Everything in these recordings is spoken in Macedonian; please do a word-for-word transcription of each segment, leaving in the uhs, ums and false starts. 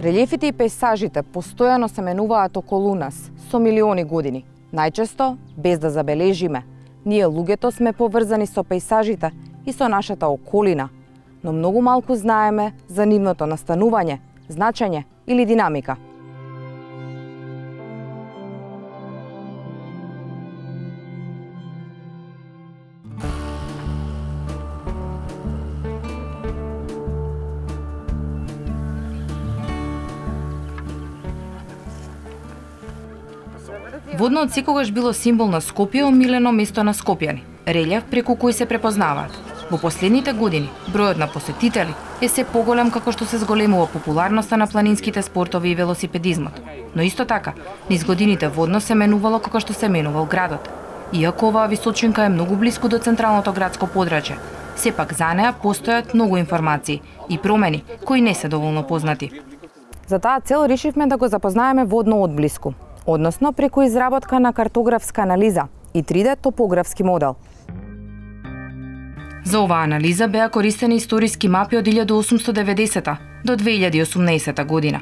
Релјефите и пејзажите постојано се менуваат околу нас со милиони години, најчесто без да забележиме. Ние луѓето сме поврзани со пејзажите и со нашата околина, но многу малку знаеме за нивното настанување, значење или динамика. Водно од секогаш било символ на Скопје, омилено место на скопјани, релјеф преку кој се препознаваат. Во последните години, бројот на посетители е се поголем како што се зголемува популарноста на планинските спортови и велосипедизмот. Но исто така, низ годините Водно се менувало како што се менувал градот. Иако оваа височинка е многу блиску до централното градско подрачје, сепак за неа постојат многу информации и промени кои не се доволно познати. За таа цел решивме да го запознаеме Водно одблиску, односно преку изработка на картографска анализа и три Д топографски модел. За оваа анализа беа користени историски мапи од илјада осумсто деветдесета до две илјади и осумнаесета година.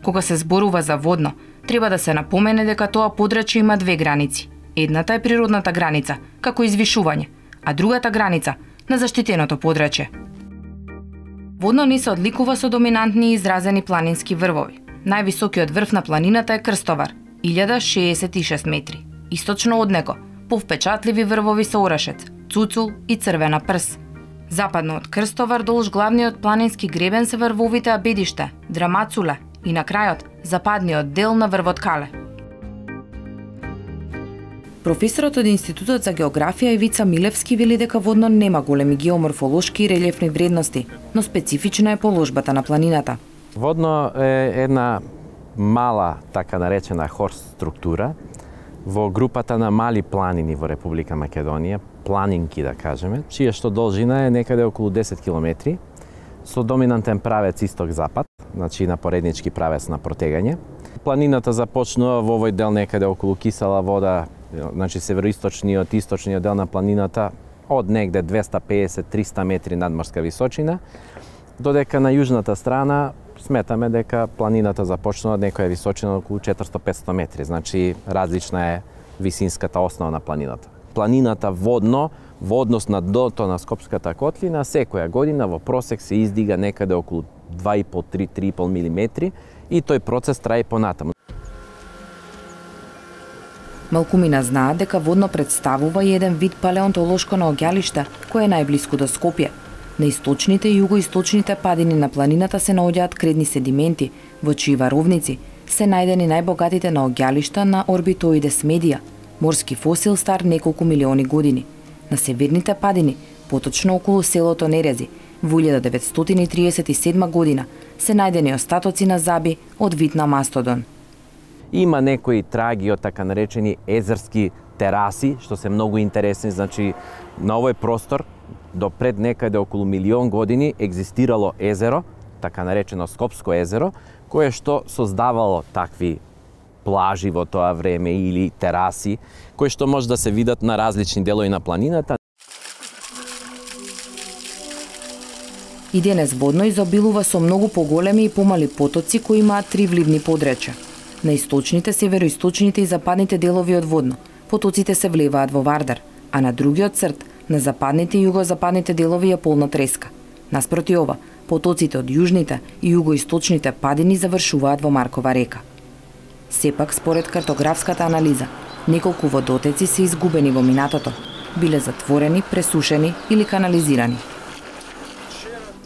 Кога се зборува за Водно, треба да се напомене дека тоа подрачје има две граници. Едната е природната граница, како извишување, а другата граница на заштитеното подрачје. Водно не се одликува со доминантни и изразени планински врвови. Највисокиот врв на планината е Крстовар, илјада шеесет и шест метри. Источно од него, повпечатливи врвови со Орашец, Цуцул и Црвена прс. Западно од Крстовар долж главниот планински гребен се врвовите Абедиште, Драмацуле и на крајот западниот дел на врвот Кале. Професорот од Институтот за географија Ивица Милевски вели дека Водно нема големи геоморфолошки и релјефни вредности, но специфична е положбата на планината. Водно е една мала, така наречена хорст структура во групата на мали планини во Република Македонија, планинки да кажеме, чија што должина е некаде околу десет километри, со доминантен правец исток-запад, значи на пореднички правец на протегање. Планината започнува во овој дел некаде околу Кисела вода, значи североисточниот, источниот дел на планината, од негде двесте пеесет до триста метри надморска височина, додека на јужната страна сметаме дека планината започнува од некоја височина околу четиристо до петстотини метри, значи различна е висинската основа на планината. Планината Водно, во однос на дното на Скопската котлина, секоја година во просек се издига некаде околу два и по до три до три и по милиметри и тој процес трае понатаму. Малкумина знаат дека Водно представува и еден вид палеонтолошко наоѓалиште кој е најблиску до Скопје. На источните и југоисточните падини на планината се наоѓаат кредни седименти, во чии варовници се најдени најбогатите наоѓалишта на Орбитоидес медија, морски фосил стар неколку милиони години. На северните падини, поточно околу селото Нерези, во илјада деветстотини триесет и седма година се најдени остатоци на заби од вид на мастодон. Има некои траги од така наречени езерски тераси, што се многу интересни, значи на овој простор до пред некаде околу милион години екзистирало езеро, така наречено Скопско езеро, кое што создавало такви плажи во тоа време или тераси, кои што може да се видат на различни делови на планината. И денес Водно изобилува со многу поголеми и помали потоци кои имаат три вливни подречја. На источните, североисточните и западните делови од Водно потоците се влеваат во Вардар, а на другиот црт, на западните и југозападните делови е полна треска. Наспроти ова, потоците од јужните и југоисточните падини завршуваат во Маркова река. Сепак, според картографската анализа, неколку водотеци се изгубени во минатото, биле затворени, пресушени или канализирани.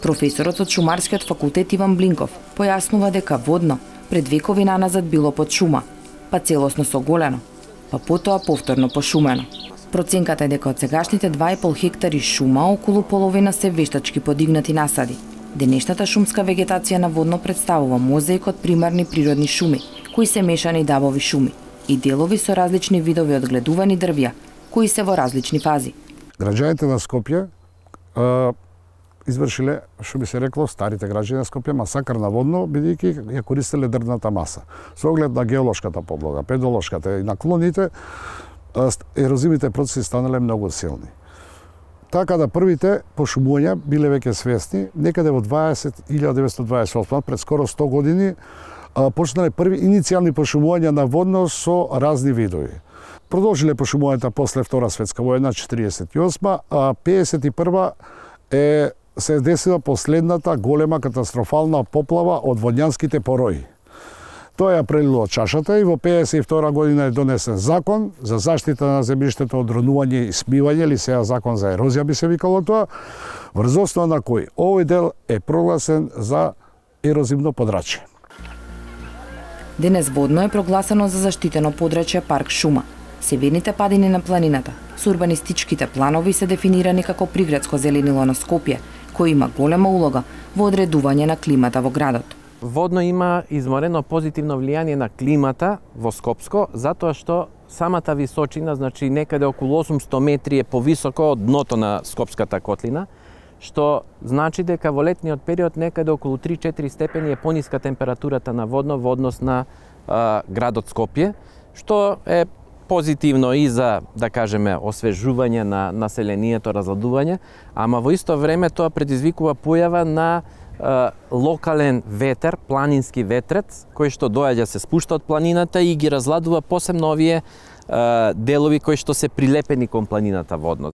Професорот од Шумарскиот факултет Иван Блинков појаснува дека Водно пред векови наназад било под шума, па целосно соголено, па потоа повторно пошумено. Проценката е дека од сегашните два и пол хектари шума, околу половина се вештачки подигнати насади. Денешната шумска вегетација на Водно представува мозаик од примарни природни шуми, кои се мешани дабови шуми и делови со различни видови одгледувани дрвја, кои се во различни фази. Граѓаните на Скопје извршиле, што би се рекло, старите граѓани на Скопје, масакар на Водно, бидејќи ја користеле дрвната маса. Со оглед на геолошката подлога, педолошката и наклоните, ерозивните процеси станале многу силни. така да првите пошумувања биле веќе свесни, некаде во илјада деветстотини дваесет и осма, пред скоро сто години, почнале први иницијални пошумувања на водно со разни видови. Продолжиле пошумувањата после Втора светска војна, четириесет и осма, а пеесет и прва е се десила последната голема катастрофална поплава од водњанските порои. Тоа ја прелило чашата и во пеесет и втора година е донесен закон за заштита на земјиштето од ронување и смивање, или сега закон за ерозија би се викало тоа, врз основа на кој овој дел е прогласен за ерозивно подрачје. Денес водно е прогласено за заштитено подрачје парк шума. Северните падини на планината со урбанистичките планови се дефинирани како приградско зеленило на Скопје, кој има голема улога во одредување на климата во градот. Водно има изморено позитивно влијание на климата во Скопско, затоа што самата височина, значи некаде околу осумсто метри е повисоко од дното на Скопската котлина, што значи дека во летниот период некаде околу три-четири степени е пониска температурата на водно во однос на а, градот Скопје, што е позитивно и за, да кажеме, освежување на населението, разладување, ама во исто време тоа предизвикува појава на е, локален ветер, планински ветрец, кој што доаѓа се спушта од планината и ги разладува посебно овие е, делови кои што се прилепени кон планината водно.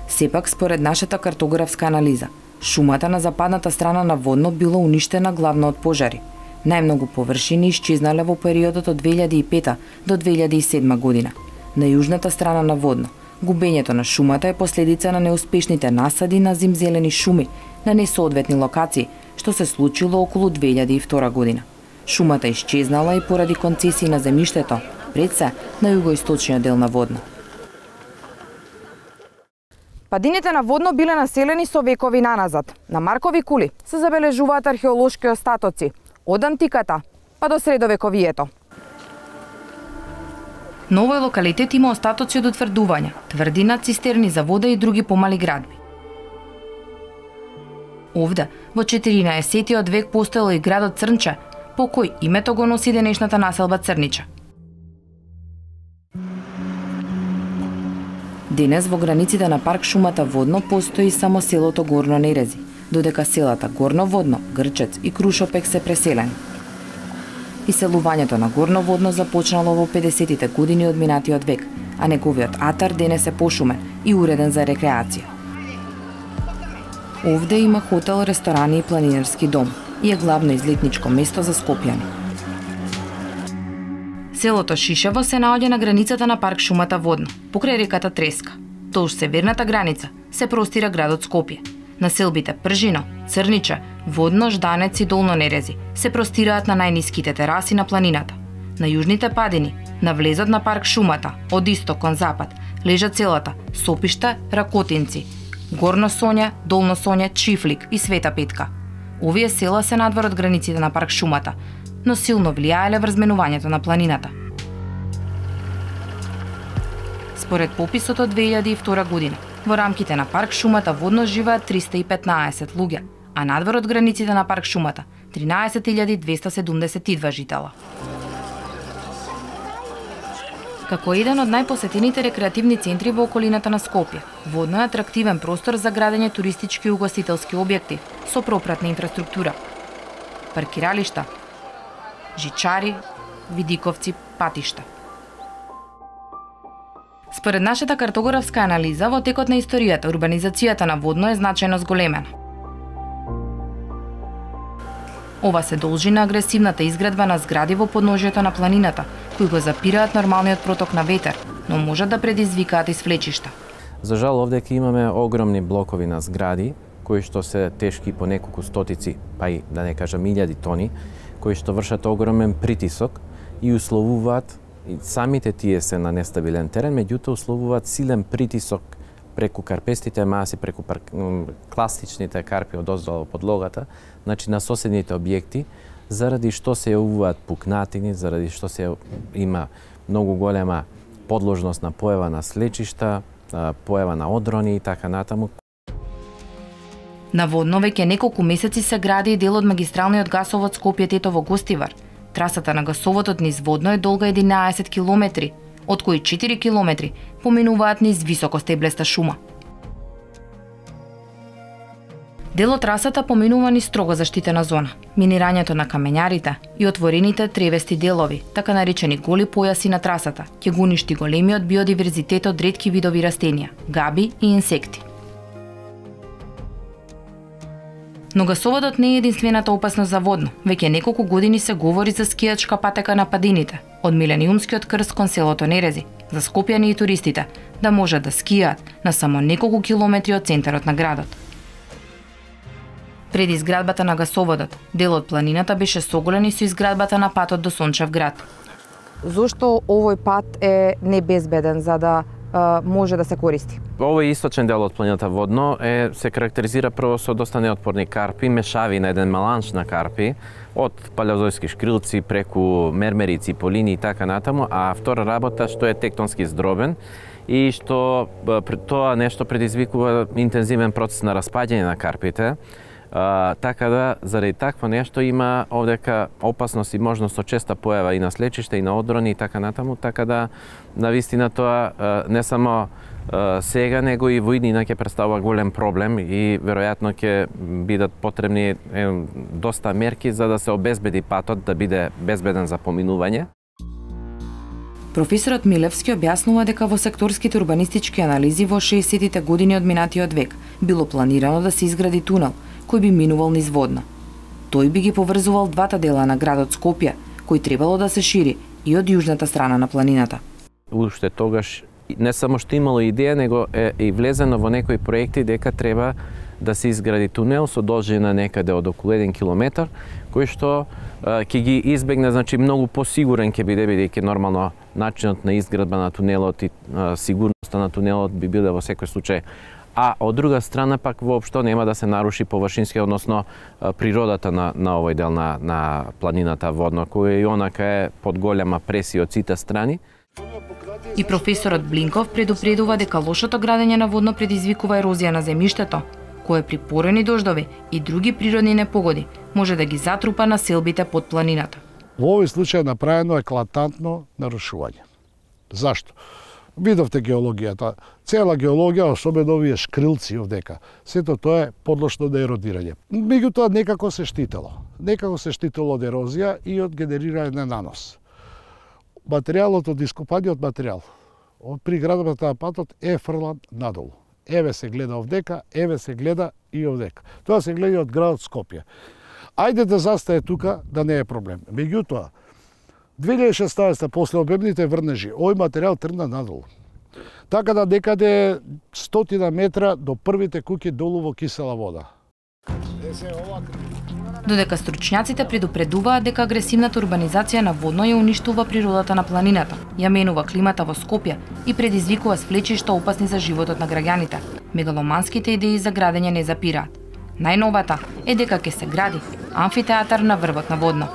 Сепак, според нашата картографска анализа, шумата на западната страна на водно било уништена главно од пожари. Најмногу површини исчезнале во периодот од две илјади и пета до две илјади и седма година. На јужната страна на водно, губењето на шумата е последица на неуспешните насади на зимзелени шуми на несоодветни локации, што се случило околу две илјади и втора година. Шумата исчезнала и поради концесии на земјиштето, пред се на југоисточниот дел на водно. Падините на водно биле населени со векови наназад. На Маркови кули се забележуваат археолошки остатоци од антиката па до средовековието. На овој локалитет има остатоци од утврдувања, тврдина, цистерни за вода и други помали градби. Овде, во четиринаесеттиот век постоел и градот Црнча, по кој името го носи денешната населба Црнича. Денес во границите на парк шумата Водно постои само селото Горно Нерези, додека селата Горно Водно, Грчец и Крушопек се преселени. Иселувањето на Горно Водно започнало во педесетите години од минатиот век, а неговиот атар денес е пошумен и уреден за рекреација. Овде има хотел, ресторани и планинарски дом и е главно излетничко место за скопјани. Селото Шишево се наоѓа на границата на парк шумата Водно, покрај реката Треска. Толж северната граница се простира градот Скопје. Населбите Пржино, Црнича, Водно, Жданец и Долно Нерези се простираат на најниските тераси на планината. На јужните падини, на влезот на парк шумата, од исток кон запад, лежат селата Сопишта, Ракотинци, Горно Сонја, Долно Сонја, Чифлик и Света Петка. Овие села се надвор од границите на парк шумата, но силно влијаеле врз менувањето на планината. Според пописот од две илјади и втора година, во рамките на парк шумата Водно живеат триста и петнаесет луѓе, а надвор од границите на парк шумата тринаесет илјади двеста седумдесет и два житела. Како еден од најпосетените рекреативни центри во околината на Скопје, Водно е атрактивен простор за градење туристички и угостителски објекти со пропратна инфраструктура, паркиралишта, жичари, видиковци, патишта. Според нашата картографска анализа, во текот на историјата, урбанизацијата на Водно е значајно зголемена. Ова се должи на агресивната изградба на згради во подножјето на планината, кои го запираат нормалниот проток на ветер, но можат да предизвикаат и свлечишта. За жал, овдека имаме огромни блокови на згради, кои што се тешки по неколку стотици, па и да не кажам илјади тони, кои што вршат огромен притисок и условуваат, и самите тие се на нестабилен терен, меѓутоа условуваат силен притисок преку карпестите маси, преку пар... класичните карпи одоздолу од подлогата, значи на соседните објекти, заради што се јавуваат пукнатини, заради што се има многу голема подложност на појава на слечишта, појава на одрони и така натаму. На Водно веќе неколку месеци се гради и дел од магистралниот гасовод Скопје-Тетово-Гостивар. Трасата на гасоводот низ Водно е долга единаесет километри, од кои четири километри поминуваат низ високо стеблеста шума. Дел од трасата поминува низ строго заштитена зона. Минирањето на камењарите и отворените тревести делови, така наречени голи појаси на трасата, ќе го уништи големиот биодиверзитет од ретки видови растенија, габи и инсекти. Но гасоводот не е единствената опасност за Водно. Веќе неколку години се говори за скијачка патека на падините, од Милениумскиот крст кон селото Нерези, за скопјани и туристите да можат да скијаат на само неколку километри од центарот на градот. Пред изградбата на гасоводот, дел од планината беше соголен и со изградбата на патот до Сончев град. Зошто овој пат е небезбеден за да а, може да се користи? Овој источен дел од планината Водно е се карактеризира прво со доста неотпорни карпи, мешави на еден маланш на карпи, од палеозојски шкрилци преку мермерици, полини и така натаму, а втора работа што е тектонски здробен и што тоа нешто предизвикува интензивен процес на распаѓање на карпите. Uh, така да, заради такво нешто има овдека опасност и можност со честа појава и на слечиште и на одрони и така натаму, така да навистина тоа uh, не само uh, сега, него и во иднина ќе представува голем проблем и веројатно ќе бидат потребни е, доста мерки за да се обезбеди патот да биде безбеден за поминување. Професорот Милевски објаснува дека во секторските урбанистички анализи во шеесеттите години од минатиот век било планирано да се изгради тунел кој би минувал низ Водно. Тој би ги поврзувал двата дела на градот Скопје, кој требало да се шири и од јужната страна на планината. Уште тогаш не само што имало идеја, него е и влезено во некои проекти дека треба да се изгради тунел со должина некаде од околу еден километар, кој што ќе ги избегне, значи многу посигурен ќе биде, бидејќи нормално начинот на изградба на тунелот и а, сигурноста на тунелот би биле во секој случај. А од друга страна пак воопшто нема да се наруши површински, односно природата на, на овој дел на, на планината Водно, која и онака е под голема пресија од сите страни. И професорот Блинков предупредува дека лошото градење на Водно предизвикува ерозија на земјиштето, кое при порани дождови и други природни непогоди може да ги затрупа населбите под планината. Во овој случај направено еклатантно нарушување. Зашто? Видовте геологијата. Цела геологија, особено овие шкрилци овдека, сето тоа е подлошно на еродирање. Меѓутоа некако се штитело. Некако се штитело од ерозија и од генерирање на нанос. Материјалот од ископаниот материјал од при градбата на патот е фрлан надолу. Еве се гледа овдека, еве се гледа и овдека. Тоа се гледа од градот Скопје. Ајде да застае тука, да не е проблем. Меѓутоа, две илјади и шеснаесета после обемните врнежи, овој материјал тргна надолу. Така да некаде стотина метра до првите куќи долу во кисела вода. Додека стручњаците предупредуваат дека агресивната урбанизација на Водно ја уништува природата на планината, ја менува климата во Скопје и предизвикува сплечишта опасни за животот на граѓаните, мегаломанските идеи за градење не запираат. Најновата е дека ќе се гради амфитеатар на врвот на Водно.